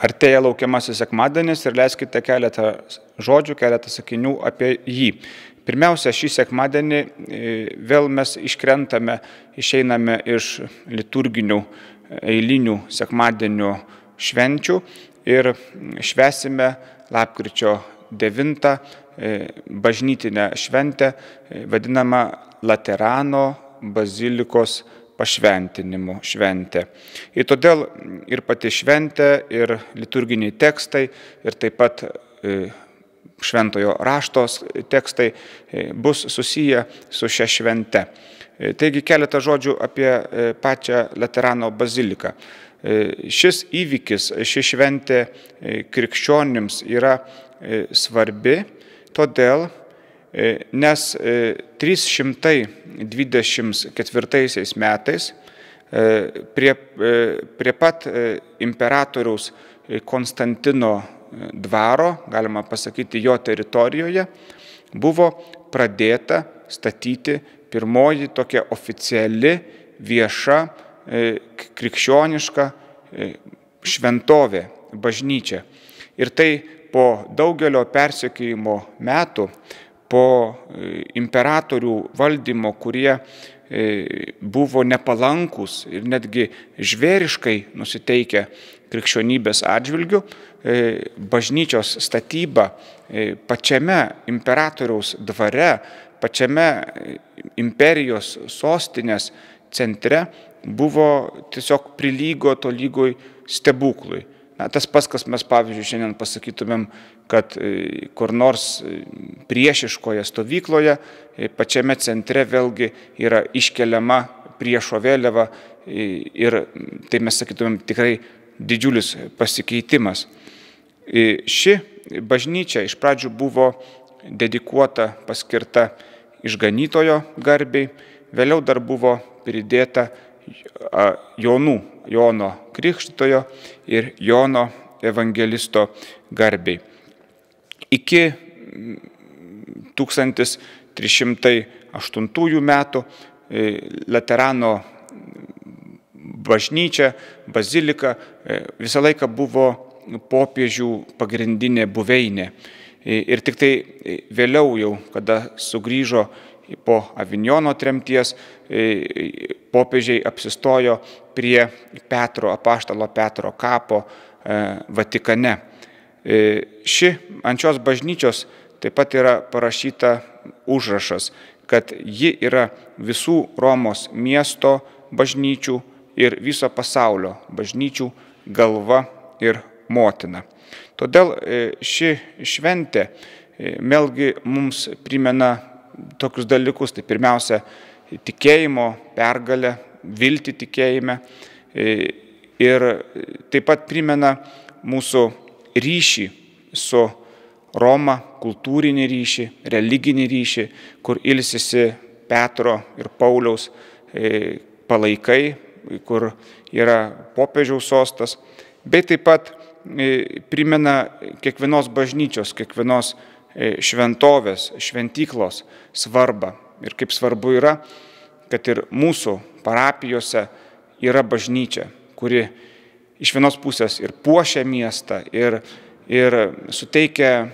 Artėja laukiamasis sekmadienis ir leiskite keletą žodžių, keletą sakinių apie jį. Pirmiausia, šį sekmadienį vėl mes išeiname iš liturginių eilinių sekmadienio švenčių ir švęsime lapkričio 9 bažnytinę šventę, vadinamą Laterano bazilikos pašventinimo šventę. Ir todėl ir pati šventė, ir liturginiai tekstai, ir taip pat šventojo raštos tekstai bus susiję su šia švente. Taigi keletą žodžių apie pačią Laterano baziliką. Šis įvykis, ši šventė krikščionims yra svarbi, todėl nes 324 metais prie pat imperatoriaus Konstantino dvaro, galima pasakyti jo teritorijoje, buvo pradėta statyti pirmoji tokia oficiali vieša krikščioniška šventovė, bažnyčia. Ir tai po daugelio persekiojimo metų, po imperatorių valdymo, kurie buvo nepalankus ir netgi žvėriškai nusiteikę krikščionybės atžvilgių, bažnyčios statyba pačiame imperatoriaus dvare, pačiame imperijos sostinės centre buvo tiesiog prilygo tolygoj stebuklui. Tas pats, kas mes, pavyzdžiui, šiandien pasakytumėm, kad kur nors priešiškoje stovykloje, pačiame centre vėlgi yra iškeliama priešo vėliava ir tai mes sakytumėm tikrai didžiulis pasikeitimas. Ši bažnyčia iš pradžių buvo dedikuota, paskirta išganytojo garbei, vėliau dar buvo pridėta Jono Krikštytojo ir Jono evangelisto garbei. Iki 1308 metų Laterano bažnyčia, bazilika visą laiką buvo popiežių pagrindinė buveinė. Ir tik tai vėliau jau, kada sugrįžo po Avinjono tremties, popiežiai apsistojo prie apaštalo Petro kapo Vatikane. Ant šios bažnyčios taip pat yra parašyta užrašas, kad ji yra visų Romos miesto bažnyčių ir viso pasaulio bažnyčių galva ir motina. Todėl ši šventė vėlgi mums primena tokius dalykus, tai pirmiausia tikėjimo pergalę, viltį tikėjime ir taip pat primena mūsų ryšį su Roma, kultūrinį ryšį, religinį ryšį, kur ilsisi Petro ir Pauliaus palaikai, kur yra popiežiaus sostas, bei taip pat primena kiekvienos bažnyčios, kiekvienos šventovės, šventyklos svarbą. Ir kaip svarbu yra, kad ir mūsų parapijose yra bažnyčia, kuri iš vienos pusės ir puošia miestą, ir suteikia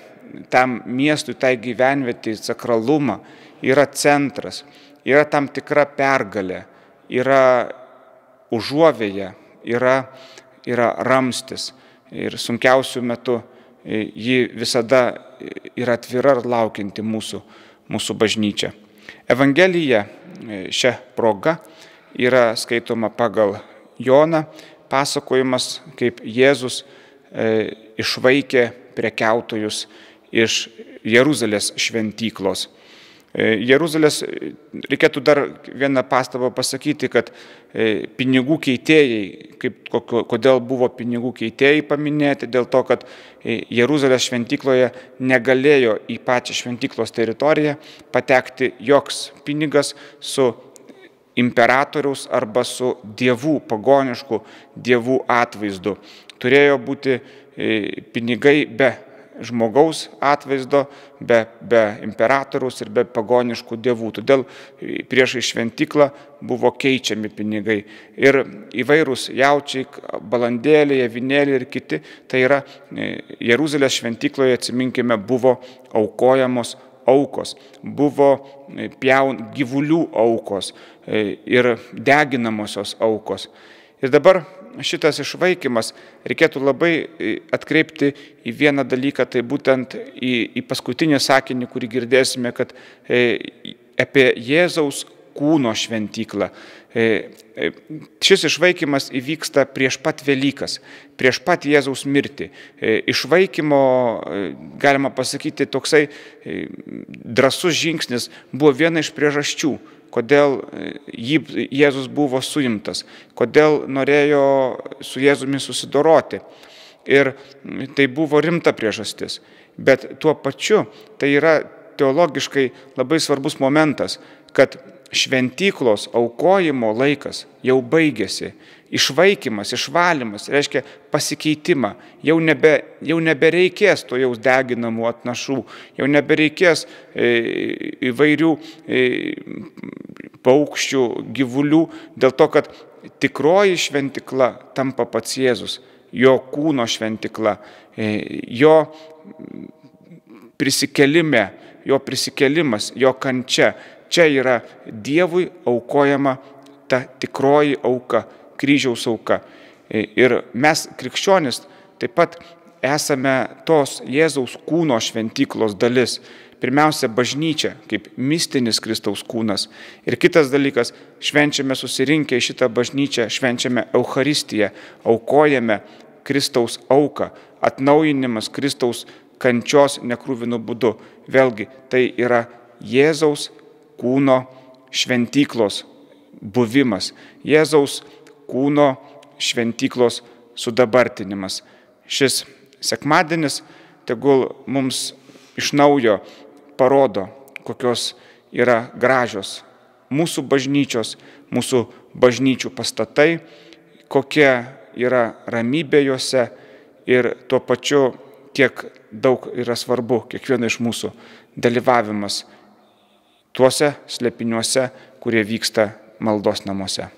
tam miestui, tai gyvenvietei sakralumą, yra centras, yra tam tikra pergalė, yra užuovėja, yra ramstis. Ir sunkiausių metų ji visada yra atvira ir laukianti mūsų bažnyčia. Evangelija šią progą yra skaitoma pagal Joną, pasakojimas, kaip Jėzus išvaikė prekiautojus iš Jeruzalės šventyklos. Jeruzalės, reikėtų dar vieną pastabą pasakyti, kad pinigų keitėjai, kodėl buvo pinigų keitėjai paminėti, dėl to, kad Jeruzalės šventykloje negalėjo į pačią šventyklos teritoriją patekti joks pinigas su imperatoriaus arba su dievų, pagoniškų dievų atvaizdu. Turėjo būti pinigai be žmogaus atvaizdo, be imperatoriaus ir be pagoniškų dievų. Todėl priešai šventyklą buvo keičiami pinigai. Ir įvairūs jaučiai, balandėliai, avinėliai ir kiti, tai yra Jeruzalės šventykloje, atsiminkime, buvo aukojamos aukos, buvo gyvulių aukos ir deginamosios aukos. Ir dabar šitas išvaikymas reikėtų labai atkreipti į vieną dalyką, tai būtent į paskutinį sakinį, kurį girdėsime, kad apie Jėzaus kūno šventyklą. Šis išvaikymas įvyksta prieš pat Velykas, prieš pat Jėzaus mirtį. Išvaikymo, galima pasakyti, toksai drąsus žingsnis buvo viena iš priežasčių, kodėl Jėzus buvo suimtas, kodėl norėjo su Jėzumi susidoroti. Ir tai buvo rimta priežastis. Bet tuo pačiu tai yra teologiškai labai svarbus momentas, kad šventyklos aukojimo laikas jau baigėsi. Išvaikymas, išvalymas reiškia pasikeitimą. Jau nebereikės to jau deginamų atnašų, jau nebereikės įvairių paukščių, gyvulių, dėl to, kad tikroji šventykla tampa pats Jėzus, jo kūno šventykla, jo prisikėlimas, jo kančia. Čia yra Dievui aukojama ta tikroji auka, kryžiaus auka. Ir mes, krikščionys, taip pat esame tos Jėzaus kūno šventyklos dalis. Pirmiausia, bažnyčia, kaip mistinis Kristaus kūnas. Ir kitas dalykas, švenčiame susirinkę į šitą bažnyčią, švenčiame Eucharistiją, aukojame Kristaus auką, atnaujinimas Kristaus kančios nekruvinu būdu. Vėlgi, tai yra Jėzaus kūno šventyklos buvimas, Jėzaus kūno šventyklos sudabartinimas. Šis sekmadienis tegul mums iš naujo parodo, kokios yra gražios mūsų bažnyčios, mūsų bažnyčių pastatai, kokia yra ramybė juose ir tuo pačiu, kiek daug yra svarbu kiekvieno iš mūsų dalyvavimas tuose slėpiniuose, kurie vyksta maldos namuose.